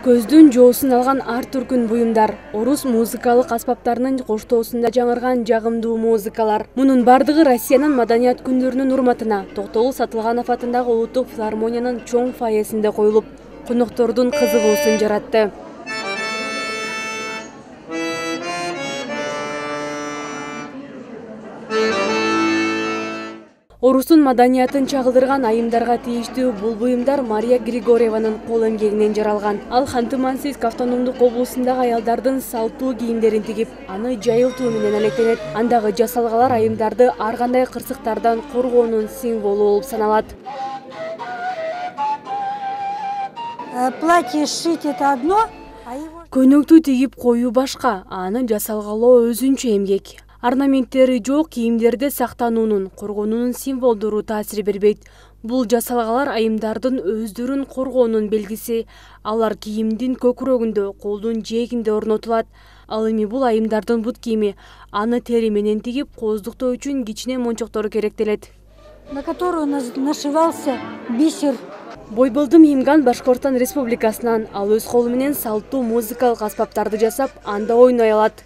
Көздүн жоосун алган ар түркүн буюмдар, орус музыкалык аспаптарынын коштоосунда жаңырган жагымдуу музыкалар. Мунун бардыгы Россиянын маданият күндөрүнүн урматына Токтогул Сатылганов атындагы улуттук филармониянын чоң фойесинде коюлуп, коноктордун кызыгуусун жаратты. Орустун маданиятын чагылдырган айымдарга тийиштүү бул буюмдар Мария Григорьеванын кол эмгегинен жаралган. Ал Ханты-Мансийск автономдук облусундагы аялдардын салттуу кийимдерин тигип, аны жайылтуу менен алектенет. Андагы жасалгалар айымдарды ар кандай кырсыктардан коргоонун символу болуп саналат. Платье сшить это одно, Көйнөктү тигип коюу башка, аны жасалгалоо өзүнчө эмгек. Орнаменттери жок кийимдерди сактануунун, коргонуунун символдору таасир бербейт. Бул жасалгалар айымдардын өздөрүн коргоонун белгиси. Алар кийимдин көкүрөгүндө, колдун жээгинде орнотулат. Ал эми бул айымдардын бут кийими. Аны тери менен тигип, кооздуктоо үчүн кичине мончоктор керектелет. на которую нашивался бисер. Бойбылдым Имган Башкортстан Республикасынан. Ал өз колу менен салттуу музыкалык аспаптарды жасап, анда ойной алат.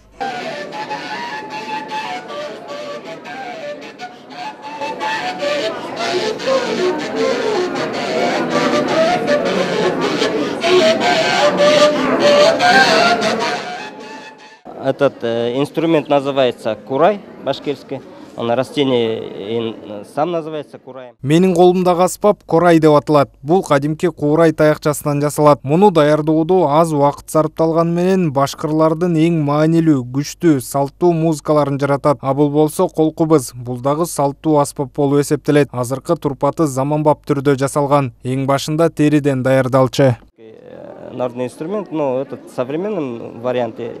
Этот инструмент называется курай башкирский. Он растение сам называется курай. Менин колумдагы аспап курай деп аталат. Бул кадимки курай таякчасынан жасалат. Муну даярдоодо аз убакыт сарпталганы менен башкырлардын эң маанилүү, күчтүү, салттуу музыкаларын жаратат. А бул болсо колкубуз. Бул дагы салттуу аспап болуп эсептелет. Азыркы турпаты заманбап түрдө жасалган. Эң башында териден даярдалчу. Народный инструмент, но этот в современном варианте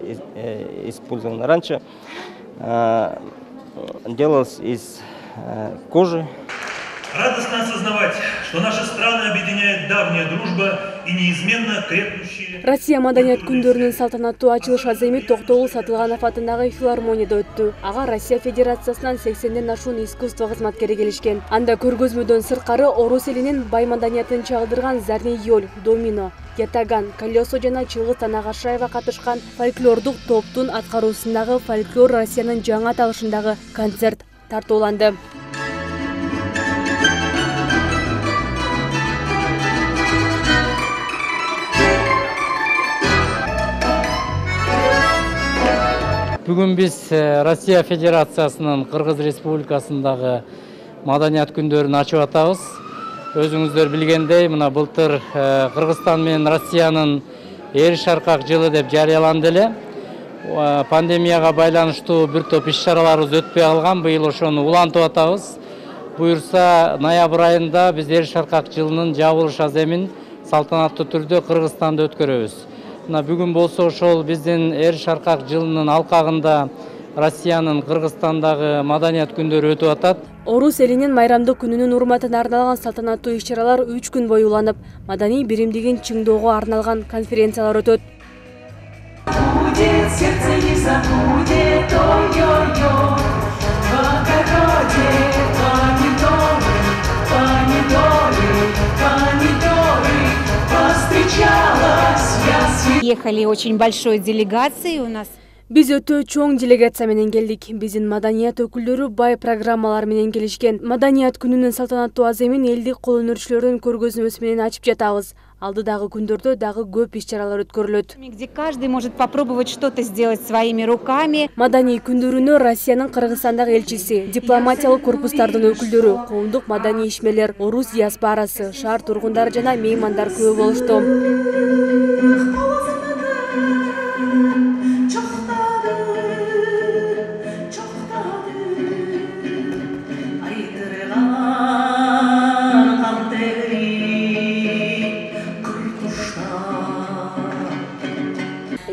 использован. Раньше делалось из кожи. Радостно осознавать, что наши страны объединяет давняя дружба и неизменно крепнущие. Россия маданият күндөрүнүн салтанаттуу ачылыш аземи Токтогул Сатылганов атындагы филармонияда өттү. Ага Россия Федерациясынан 80ден ашуун искусство кызматкери келишкен. Анда көргөзмөдөн сырткары орус элинин бай маданиятын чагылдырган зарнейёл, домино, ятаган, колесо жана Чыңгыз Танагашаева катышкан фольклордук топтун аткаруусундагы фольклор Россиянын жаңы аталышындагы концерт тартууланды. Бүгүн биз Россия Федерациясынын Кыргыз Республикасындагы маданият күндөрүн ачып атабыз. Өзүңүздөр билгендей, мына былтыр Кыргызстан менен Россиянын эр шаркак жылы деп жарыяланды эле. Пандемияга байланыштуу бир топ иш-чараларыбыз өтпөй калган. Быйыл ошону улантып атабыз. Буюрса, ноябрь айында биз эр шаркак жылынын жабылыш аземин салтанаттуу түрдө Кыргызстанда өткөрөбүз. Бүгүн болсо ошол биздин эр шаркак жылынын алкагында Россиянын Кыргызстандагы маданият күндөрү өтүп атат. Орус элинин майрамдык күнүнүн урматына арналган салтанаттуу иш-чаралар 3 күн бою уланып, маданий биримдигин чыңдоого арналган конференциялар өтөт. Ехали очень большой делегацией у нас. Биз өтө чоң делегация менен келдик. Биздин маданият өкүлдөрү бай программалар менен келишкен. Маданият күнүнүн салтанаттуу аземин элдик кол өнөрчүлөрдүн көргөзмөсү менен ачып жатабыз. Алдыдагы күндөрдө дагы көп иш-чаралар өткөрүлөт. Где каждый может попробовать что-то сделать своими руками. Маданий күндөрүнө Россиянын Кыргызстандагы элчиси, дипломатиялык корпустардын өкүлдөрү, коомдук маданий ишмерлер, орус диаспорасы, шаар тургундары жана меймандар көп болушту.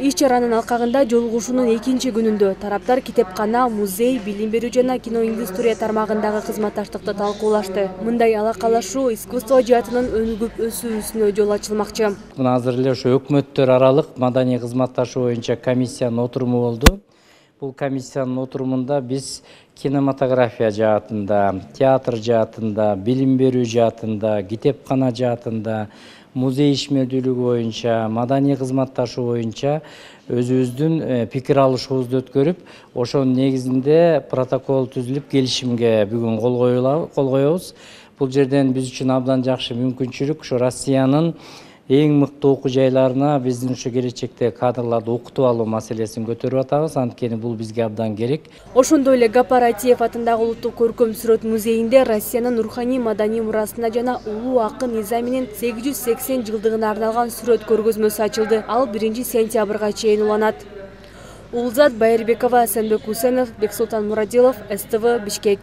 Иш-чаранын алкагында жолугушуунун экинчи күнүндө тараптар китепкана, музей, билим берүү жана киноиндустрия тармагындагы кызматташтыкты талкуулашты. Мындай алакалашуу искусство жаатынын өнүгүп өсүүсүнө жол ачылмакчы. Мына азыр эле ошо өкмөттөр аралык маданий кызматташуу боюнча комиссиянын отуруму болду. Бул комиссиянын отурумунда биз кинематография жаатында, театр жаатында, билим берүү жаатында, китепкана жаатында, музей ишмердүүлүгү боюнча, маданий кызматташуу боюнча өзүбүздүн пикир алышуубузду өткөрүп, ошонун негизинде протокол түзүлүп, келишимге бүгүн кол коебуз. Бул жерден биз үчүн абдан жакшы мүмкүнчүлүк ушу Россиянын эң мыкты окуу жайларына биздин ушу келечекте кадрларды окутуп алуу маселесин көтөрүп атабыз. Анткени бул бизге абдан керек. Ошондой эле Гапар Айтиев атындагы Улуттук көркөм сүрөт музейинде Россиянын руханий маданий мурасына жана улуу акын Низаминин 880 жылдыгына арналган сүрөт көргөзмөсү ачылды. Ал 1 сентябрга чейин уланат. Улзат Байырбекова, Сенбек Усенов, Бексултан Мурадилов, СТВ, Бишкек.